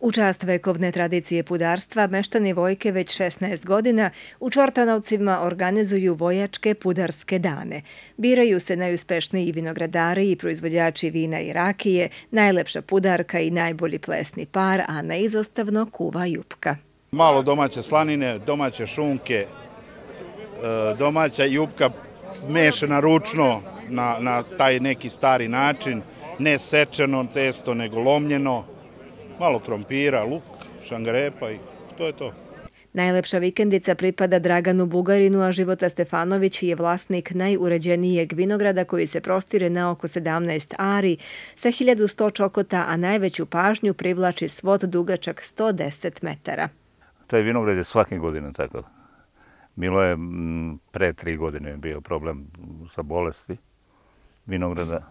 U čast vekovne tradicije pudarstva, meštani Vojke već 16 godina u Čortanovcima organizuju vojačke pudarske dane. Biraju se najuspešniji vinogradari i proizvođači vina i rakije, najlepša pudarka i najbolji plesni par, a neizostavno kuva jupka. Malo domaće slanine, domaće šunke, domaća jupka mešana ručno na taj neki stari način, ne sečeno testo nego lomljeno, malo krompira, luk, šangarepa i to je to. Najlepša vikendica pripada Draganu Bugarinu, a Života Stefanović je vlasnik najuređenijeg vinograda koji se prostire na oko 17 ari sa 1100 čokota, a najveću pažnju privlači svod dugačak 110 metara. Taj vinograd je svake godine tako. Bilo je pre 3 godine bio problem sa bolesti vinograda.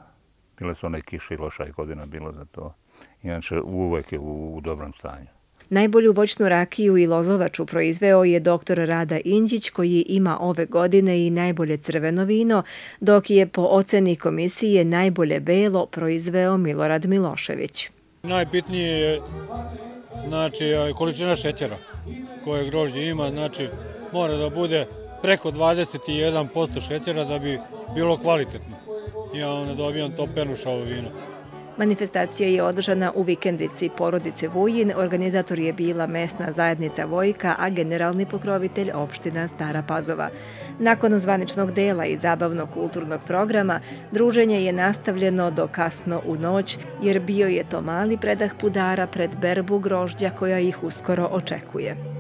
Bile su one kiše i loša godina bilo za to. Inače, uvek je u dobrom stanju. Najbolju voćnu rakiju i lozovaču proizveo je dr. Rada Inđić, koji ima ove godine i najbolje crveno vino, dok je po oceni komisije najbolje belo proizveo Milorad Milošević. Najbitnije je količina šećera koje grožđe ima, mora da bude preko 21% šećera da bi bilo kvalitetno. Ja onda dobijam to penušavo vino. Manifestacija je održana u vikendici porodice Vujin, organizator je bila mesna zajednica Vojka, a generalni pokrovitelj opština Stara Pazova. Nakon zvaničnog dela i zabavno-kulturnog programa, druženje je nastavljeno do kasno u noć, jer bio je to mali predah pudara pred berbu grožđa koja ih uskoro očekuje.